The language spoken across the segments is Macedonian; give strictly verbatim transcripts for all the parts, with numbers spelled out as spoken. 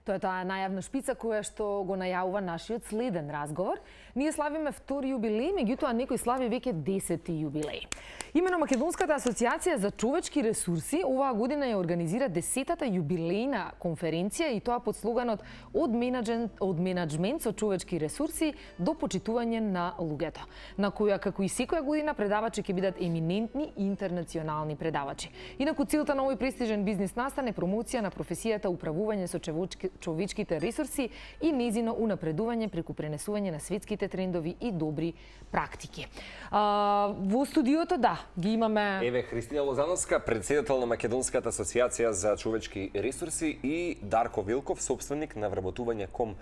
Тоа е таа најавна шпица која што го најавува нашиот следен разговор. Ние славиме втори јубилеј, меѓутоа некој слави веќе десети јубилеј. Имено Македонската асоциација за човечки ресурси оваа година ја организира десетата јубилејна конференција и тоа под слоганот од менаџмент, од менаџмент со човечки ресурси до почитување на луѓето, на која како и секоја година предавачи ќе бидат еминентни интернационални предавачи. Инаку целта на овој престижен бизнис настан е промоција на професијата управување со човечките ресурси и незино унапредување преку пренесување на светските трендови и добри практики. А, во студиото, да, ги имаме... Еве Христина Лозановска, председател на Македонската асоциација за човечки ресурси, и Дарко Вилков, собственик на вработување точка ком.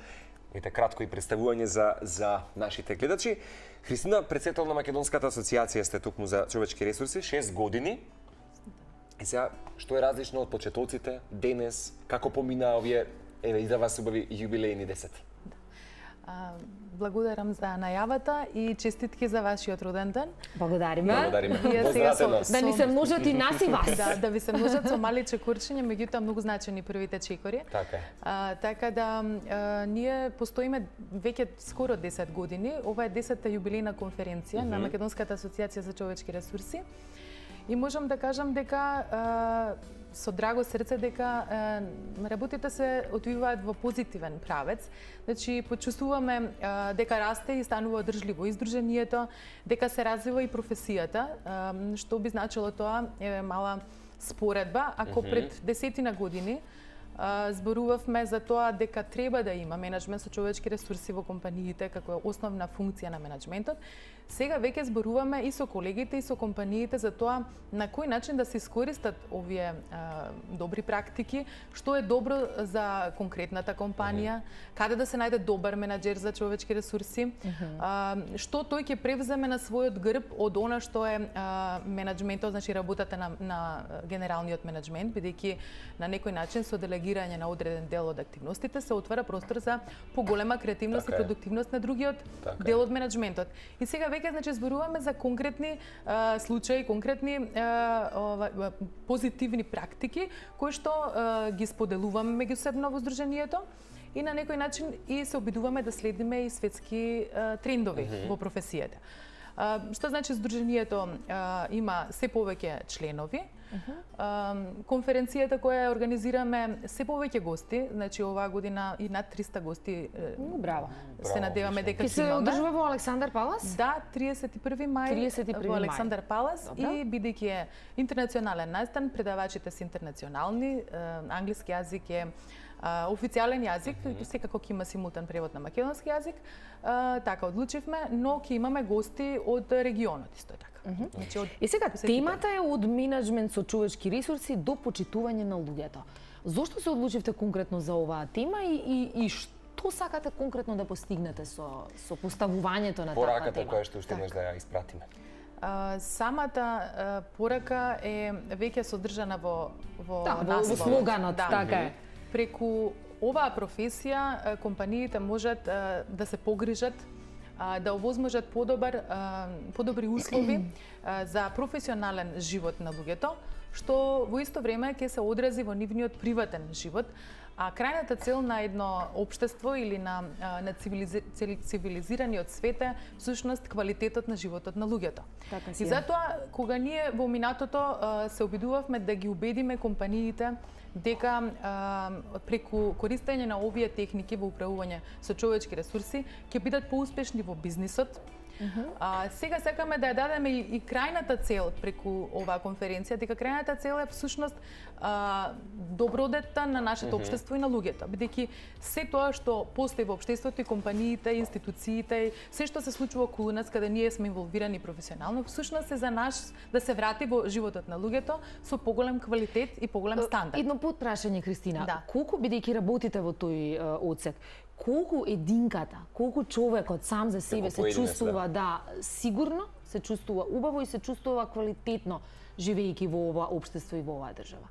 Ете кратко и представување за за нашите гледачи. Христина, председател на Македонската асоциација сте тукму за човечки ресурси, шест години. И сега, што е различно од почетоците денес, како помина овие, еве, и за вас убави јубилејни десет? Благодарам за најавата и честитки за вашиот роден ден. Благодариме. Благодариме. Со, да ни се множат и нас и вас. Да, да ви се множат со мали чекорчиња, меѓутоа многу значени првите чекори. Така е. А, така да а, ние постоиме веќе скоро десет години. Ова е десетта јубилејна конференција mm -hmm. на Македонската асоциација за човечки ресурси. И можам да кажам дека а, со драго срце дека а, работите се одвиваат во позитивен правец. Значи почувствуваме а, дека расте и станува одржливо издруженијето, дека се развива и професијата, а, што би значило тоа е мала споредба. Ако mm -hmm. пред десетина години а, зборувавме за тоа дека треба да има менаџмент со човечки ресурси во компаниите како е основна функција на менаџментот, сега веќе зборуваме и со колегите и со компаниите за тоа на кој начин да се искористат овие а, добри практики, што е добро за конкретната компанија, mm -hmm. каде да се најде добар менаџер за човечки ресурси, mm -hmm. а, што тој ќе превземе на својот грб од она што е а, менаџментот, значи работата на, на генералниот менаџмент, бидејќи на некој начин со делегирање на одреден дел од активностите се отвара простор за поголема креативност така и продуктивност на другиот така дел од менаџментот. И сега веќе значи зборуваме за конкретни а, случаи, конкретни а, ова, позитивни практики кои што а, ги споделуваме меѓусебно во здруженијето и на некој начин и се обидуваме да следиме и светски а, трендови mm -hmm. во професијата. А, што значи здруженијето а, има се повеќе членови. Uh -huh. а, конференцијата која организираме се повеќе гости, значи оваа година и над триста гости. Браво. Се надеваме дека ќе ќе имаме. Се одржува во Александар Палас? Да, триесет и први мај триесет и први во Александар Палас. Добра. И бидејќи е интернационален настан, предавачите се интернационални, англиски јазик е Uh, официјален јазик, mm -hmm. секако ќе има симултан превод на македонски јазик, uh, така одлучивме, но ќе имаме гости од регионот исто така. Mm -hmm. Значи, од... И сега темата е од менаџмент со човечки ресурси до почитување на луѓето. Зошто се одлучивте конкретно за оваа тема и, и, и што сакате конкретно да постигнете со со поставувањето на таква пораката тема? Пораката која што уште имаш да ја испратиме? Uh, самата uh, порака е веќе содржана во во да, во слоганот, да. Така е. Преку оваа професија компаниите можат да се погрижат да овозможат подобар подобри услови за професионален живот на луѓето, што во исто време ќе се одрази во нивниот приватен живот. А крајната цел на едно општество или на на цивилизи... цивилизираниот свет е всушност квалитетот на животот на луѓето. Така и затоа кога ние во минатото се обидувавме да ги убедиме компаниите дека а, преку користење на овие техники во управување со човечки ресурси ќе бидат поуспешни во бизнисот. Uh -huh. а, сега сакаме да ја дадеме и, и крајната цел преку оваа конференција, дека крајната цел е всушност а, добродетта на нашето uh -huh. општество и на луѓето, бидејќи се тоа што постои во општеството и компаниите, институциите, се што се случува околу нас каде ние сме инволвирани професионално, всушност е за нас да се врати во животот на луѓето со поголем квалитет и поголем стандард. Едно подпрашање, Христина. Да. Колку, бидејќи работите во тој uh, одсек, колку единката, колку човекот сам за себе се чувствува да сигурно, се чувствува убаво и се чувствува квалитетно живејќи во ова општество и во оваа држава?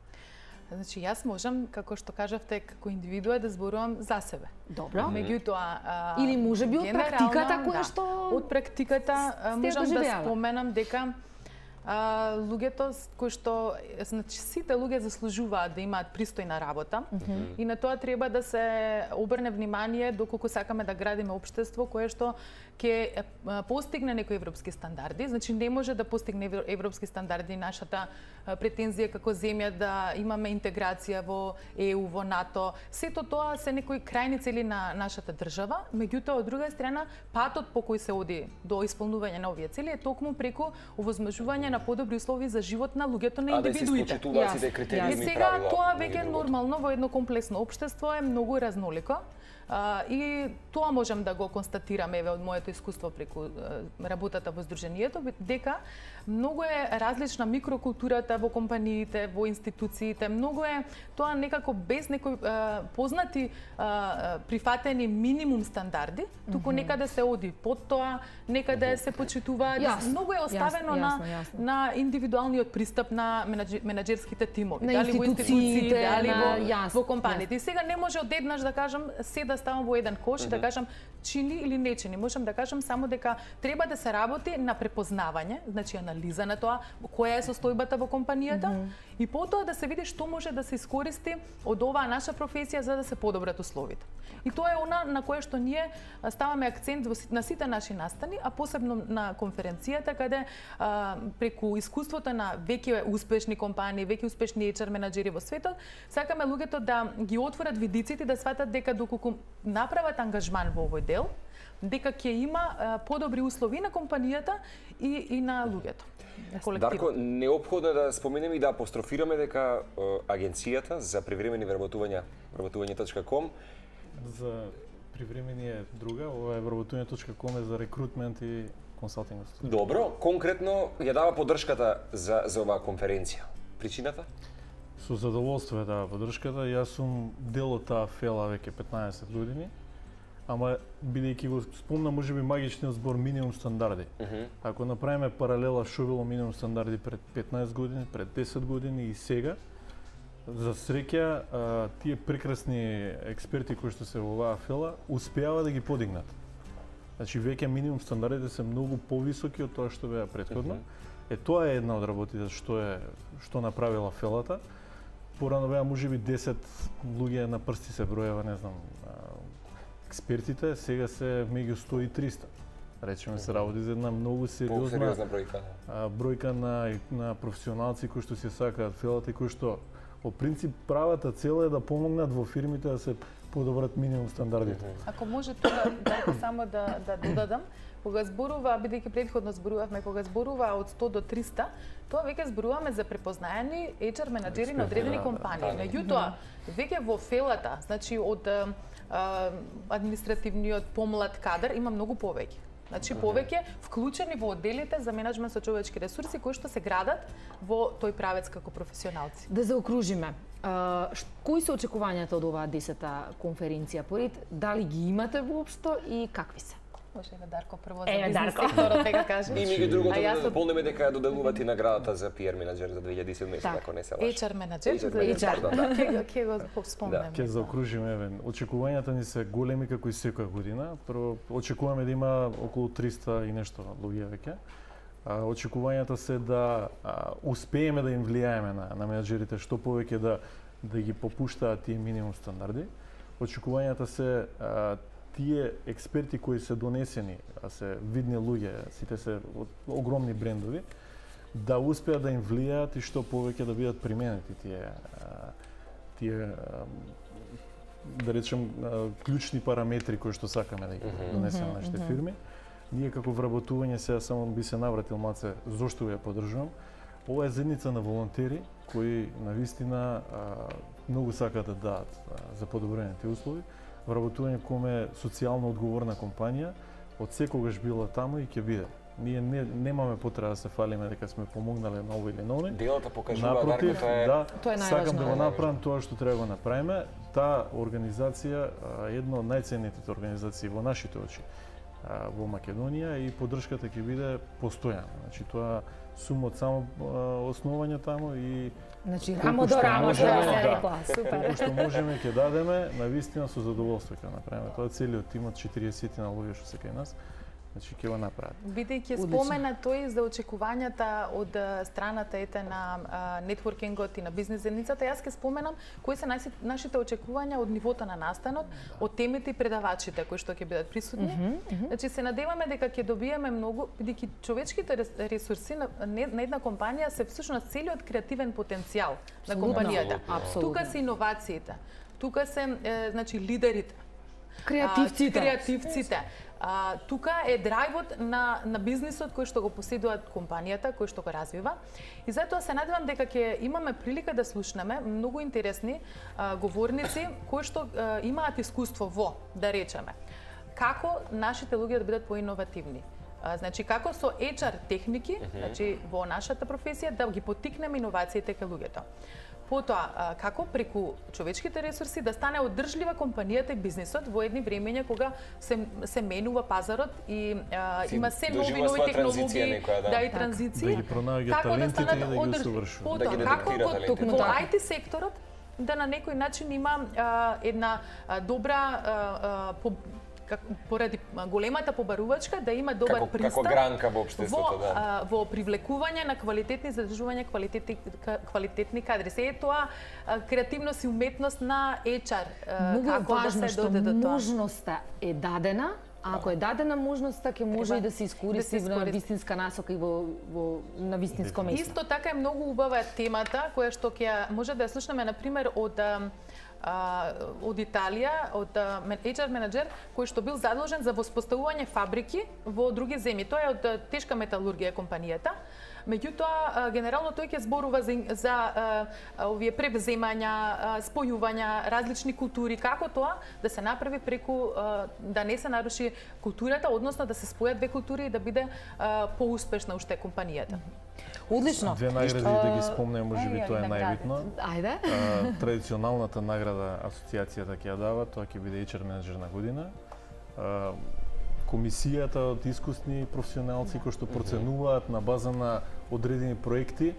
Значи, јас можам, како што кажавте, како индивидуа да зборувам за себе. Добро. Меѓутоа, или можеби од практиката која да, што од практиката можам да споменам дека а, луѓето кои што, значи сите луѓе заслужуваат да имаат пристојна работа mm -hmm. и на тоа треба да се обрне внимание доколку сакаме да градиме општество кое што ќе постигне некои европски стандарди. Значи не може да постигне европски стандарди нашата претензија како земја да имаме интеграција во Е У, во НАТО. Сето тоа се некои крајни цели на нашата држава, меѓутоа од друга страна патот по кој се оди до исполнување на овие цели е токму преку овозможување на подобри услови за живот на луѓето, на индивидуите. А да се сите критериуми и сега тоа веќе е нормално во едно комплексно општество, е многу разнолико. Uh, и тоа можам да го констатирам еве од моето искуство преку uh, работата во Сдруженијето, дека многу е различна микрокултурата во компаниите, во институциите, многу е тоа некако без некои uh, познати uh, прифатени минимум стандарди, туку mm -hmm. некаде се оди под тоа, некаде mm -hmm. се почитува, многу е оставено јасно, на јасно, јасно. на индивидуалниот пристап на менаџер, менаџерските тимови, на дали во институциите, дали на... во, јасно, во компаниите. И сега не може одеднаш да кажам се да ставам во еден кош mm -hmm. и да кажам чини или не чини. Можам да кажам само дека треба да се работи на препознавање, значи анализа на тоа која е состојбата во компанијата mm -hmm. и потоа да се види што може да се искористи од оваа наша професија за да се подобрат условите. И тоа е она на кое што ние ставаме акцент на сите наши настани, а посебно на конференцијата каде а, преку искуството на веќе успешни компании, веќе успешни Ейч Ар менаџери во светот, сакаме луѓето да ги отворат видиците, да сватат дека доколку направат ангажман во овој дел, дека ќе има а, подобри услови на компанијата и, и на луѓето. Дарко, неопходно е да споменеме и да апострофираме дека е, агенцијата за привремени вработувања вработување точка ком за привремени е друга, ова е вработување точка ком е за рекрутмент и консалтинг. Добро, конкретно ја дава поддршката за за оваа конференција. Причината? Со задоволство е дава поддршката. Јас сум дел од таа фела веќе петнаесет години. Ама бидејќи го спомна можеби магичниот збор минимум стандарди. Uh -huh. Ако направиме паралела што било минимум стандарди пред петнаесет години, пред десет години и сега, за среќа тие прекрасни експерти кои што се во оваа фела успеава да ги подигнат. Значи веќе минимум стандардите се многу повисоки од тоа што беа претходно. Uh -huh. Е тоа е една од работите што е што направила фелата. Порано беа можеби десет луѓе на прсти се броева, не знам, експертите, сега се меѓу сто и триста. Речеме се работи за една многу сериозна, сериозна бројка. бројка на, на професионалци кои што се сакаат фелата и кои што во принцип правата цел е да помогнат во фирмите да се подобрат минимум стандардите. Ако може тоа да само да да додадам, кога зборува, бидејќи претходно зборувавме, кога зборува од сто до триста, тоа веќе зборуваме за препознаени Ейч Ар менаџери на одредени компании. Меѓутоа, веќе во фелата, значи од а, административниот помлад кадар има многу повеќе. Значи повеќе вклучени во одделите за менеджмент со човечки ресурси кои што се градат во тој правец како професионалци. Да заокружиме. Uh, кои се очекувањата од оваа десета конференција поред? Дали ги имате воопшто и какви се? Може да Дарко прво за е, бизнес Дарко. секторот дека каже. И меѓу другото да јас... дополниме дека ја доделувате и наградата за Пи Ар менаџер за две илјади и седумнаесета, ако не се лажам. Ейч Ар менаџер, Ейч Ар, да. Ќе го спомнеме. Ќе заокружиме, еве, очекувањата ни се големи како и секоја година. Прво очекуваме да има околу триста и нешто луѓе веќе. Очекувањата се да а, успееме да им влијаеме на, на менаџерите што повеќе да да ги попуштаат тие минимум стандарди. Очекувањата се а, тие експерти кои се донесени, а се видни луѓе, сите се од огромни брендови, да успеат да им влијаат и што повеќе да бидат применети тие тие да речем клучни параметри кои што сакаме да ги донесеме на нашите фирми. Ние како вработување сега само би се навратил маце зошто ја поддржувам. Ова е заедница на волонтери кои навистина многу сакаат да дадат за подобрување тие услови. Вработување ком е социјално одговорна компанија, од секогаш била таму и ќе биде. Ние не, немаме потреба да се фалиме дека сме помогнале на ово или на оној. Делата покажува Напротив, Дарко, е... да, тоа е сакам да го најважно. направам тоа што треба да го направиме. Таа организација е една од најценетите организации во нашите очи во Македонија и поддршката ќе биде постојана. Значи тоа сум од само основање таму и Значи, рамо до рамо, што се рекла. Супер. Што можеме ќе дадеме, навистина со задоволство ќе направиме. Тоа е целиот тимот четириесет на луѓе што се кај нас. Значи ќе го направат. Бидејќи спомена тој за очекувањата од страната ете на нетворкингот и на бизнес заедницата, јас ќе споменам кои се нашите очекувања од нивото на настанот, од темите и предавачите кои што ќе бидат присутни. Mm -hmm, mm -hmm. Значи се надеваме дека ќе добиеме многу, бидејќи човечките ресурси на, на една компанија се всушност целиот креативен потенцијал на компанијата. Абсолютно. Тука се иновациите, тука се е, значи лидерите, креативците. А, креативците. А, тука е драйвот на, на бизнисот кој што го поседуваат компанијата, кој што го развива. И затоа се надевам дека ќе имаме прилика да слушнеме многу интересни а, говорници кои што а, имаат искуство во, да речеме, како нашите луѓе да бидат поиновативни. А, значи како со ейч ар техники, значи во нашата професија да ги поттикнеме иновациите кај луѓето. Потоа, како преку човечките ресурси да стане одржлива компанијата и бизнисот во едни времења кога се, се менува пазарот и а, има се нови нови технологии, некоја, да. да и транзиции. Да ги пронаоѓа талентите и да ги усовршува. Да ги како детектира во ај ти секторот да на некој начин има а, една а, добра а, по, как, поради големата побарувачка да има добар како, пристап како гранка во општеството, во, да. а, во привлекување на квалитетни задржување квалитетни квалитетни кадри. Се е тоа а, креативност и уметност на ейч ар. Многу како е важно да се што доде до тоа. можноста е дадена, а ако е дадена можноста, ќе може Треба и да се искористи да се на искористи. вистинска насока и во, во на вистинско место. Исто така е многу убава темата која што ќе може да ја слушнеме на пример од а, од Италија, од ейч ар менеджер кој што бил задолжен за воспоставување фабрики во други земји. Тоа е од тешка металургија компанијата. Меѓутоа, генерално тој ќе зборува за, за а, овие превземања, спојувања, различни култури, како тоа да се направи преку, а, да не се наруши културата, односно да се спојат две култури и да биде а, поуспешна уште компанијата. Одлично. Две награди да ги спомнем, можеби тоа е најбитно. Ајде. А, традиционалната награда асоциацијата ќе ја дава, тоа ќе биде ейч ар менеджер на година. А, комисијата од искусни професионалци кои што проценуваат на база на одредени проекти,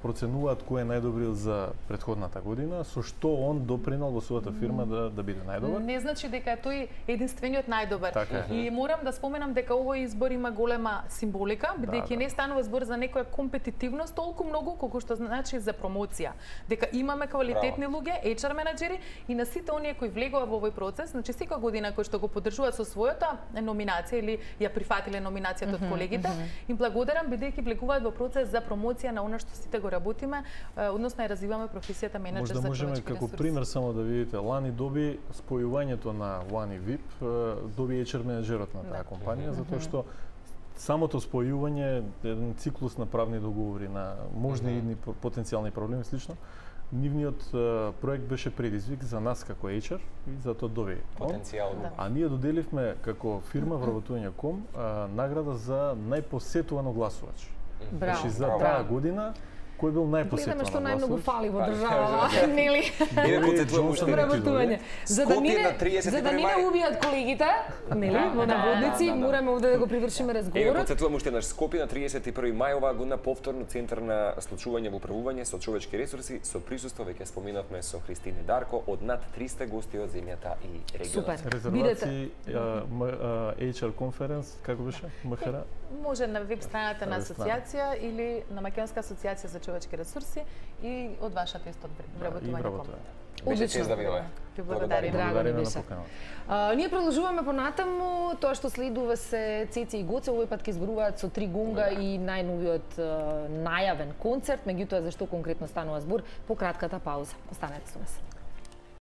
проценуваат кој е најдобрил за претходната година, со што он допринел во својата фирма да да биде најдобар. Не значи дека е тој единствениот најдобар. Така е. И морам да споменам дека овој избор има голема символика, бидејќи Да, да. не станува збор за некоја компетитивност толку многу колку што значи за промоција. Дека имаме квалитетни луѓе, ейч ар менеджери и на сите оние кои влегува во овој процес, значи секоја година кои што го поддржуваат со својата номинација или ја прифатиле номинацијата од колегите, им благодарам бидејќи влегуваат во процес за промоција на она што сите го работиме, односно ја развиваме професијата менеджер Можда за можеме човечки како ресурси. пример само да видите, лани доби спојувањето на Лани вип, доби ейч ар менеджерот на таа компанија, затоа што самото спојување е еден циклус на правни договори, на можни идни потенцијални проблеми и слично. Нивниот проект беше предизвик за нас како ейч ар и затоа доби. Потенцијално. Да. А ние доделивме како фирма вработување точка ком награда за најпосетуван огласувач. Браво. Значи за Браво. таа година кој бил најпосетуван Гледаме што најмногу огласувач? фали во Па, државава, кажа, да. нели? Еве Доби потетуваме Джонсон уште. Вработување. За да Скопје мине, на тридесет и за да први мине мај. убијат колегите, нели, во наводници, да, да, да. мораме овде да го привршиме Еве разговорот. потсетувам уште еднаш, Скопје на тридесет и први мај оваа година повторно центар на случување во управување со човечки ресурси со присуство, веќе споминавме, со Христина Дарко од над триста гости од земјата и регионот. Супер. Резервации а, м- а, ейч ар конференс, како беше? МХР? Може на веб страната на Веб страна. асоциација или на Македонска асоциација за човечки ресурси и од вашата исто И вработување. вработување. Беше Одлично. чест да видиме. Ви благодарим. Драго ни Благодариме на беше. поканата. А, ние продолжуваме понатаму, тоа што следува се Цеци и Гоце, овој пат ќе зборуваат со Три гунга и најновиот а, најавен концерт, меѓутоа за што конкретно станува збор по кратката пауза. Останете со нас.